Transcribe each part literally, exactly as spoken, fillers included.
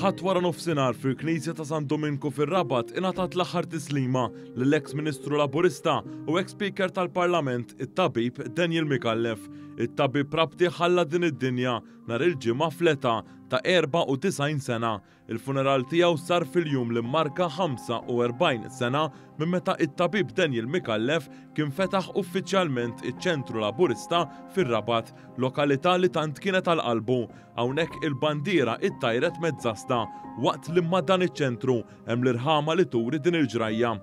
Il-Ħadd wara nofsinhar fil-Knisja ta' San Dominku fir-Rabat ingħatat l-aħħar tislima lill-eks Ministru Laburista u eks Speaker tal-Parlament, it-tabib Daniel Micallef. It-tabib Rabti ħalla din id-dinja nhar il-Ġimgħa fl-età ta' erbgħa u disgħin sena. Il-funeral tiegħu sar fil-jum li mmarka ħamsa u erbgħin sena minn meta it-tabib Daniel Micallef kien fetaħ uffiċjalment iċ-Ċentru Laburista fir-Rabat, lokalità li tant kienet għal qalbu. Hawnhekk il-bandiera ittajret mezzasta waqt li ma' dan iċ-ċentru hemm l-irħama li turi din il-ġrajja.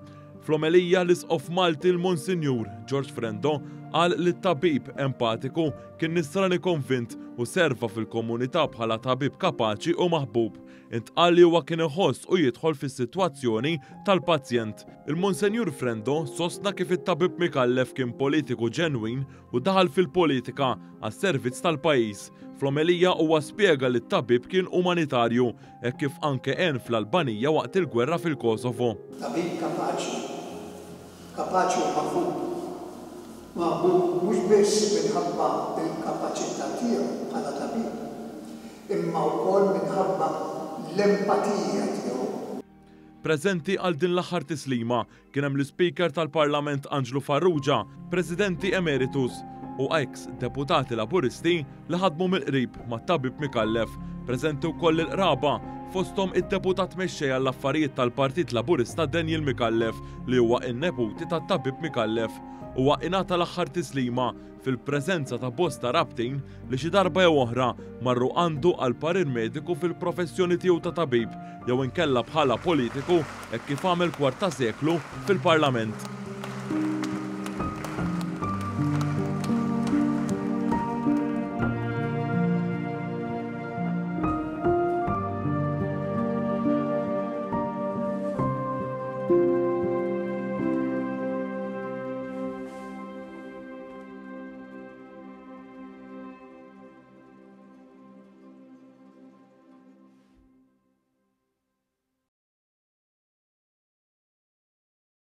Fl-omelija l-Isqof Malti l-Monsinjur George Frendo qal li t-tabib empatiku kien nisrani konvint u serva fil-komunità bħala tabib kapaċi u maħbub. Intqal li huwa kien iħoss u jidħol fis-sitwazzjoni tal-pazjent. Il-Monsinjur Frendo sostna kif it-tabib Micallef kien politiku ġenwin u daħal fil-politika għas-servizz tal-pajjiż. Fl-omelija huwa spjega li t-tabib kien umanitarju hekk kif anke għen fl-Albanija waqt il-gwerra fil-Kosovo. Tabib kapaċi, kapaċi u maħbub. Maħbub mhux biss minħabba l-kapaċità tiegħu bħala tabib, imma wkoll minħabba l-empatija tiegħu. Preżenti għal din l-aħħar tislima kien hemm l-Ispeaker tal-Parlament Anġlu Farrugia, Presidenti Emeritus u ex deputati Laburisti li ħadmu mill-qrib mat-tabib Micallef. Preżenti wkoll il-qraba fosthom id-deputat mexxej għall-affarijiet tal-Partit Laburista Daniel Micallef li huwa n-neputi tat-tabib Micallef. Huwa ingħata l-aħħar tislima fil-preżenza ta' bosta rabtin li xi darba jew oħra marru għandu għal parir mediku fil-professjoni tiegħu ta' tabib jew inkella bħala politiku hekk kif għamel kwart ta' seklu fil-Parlament.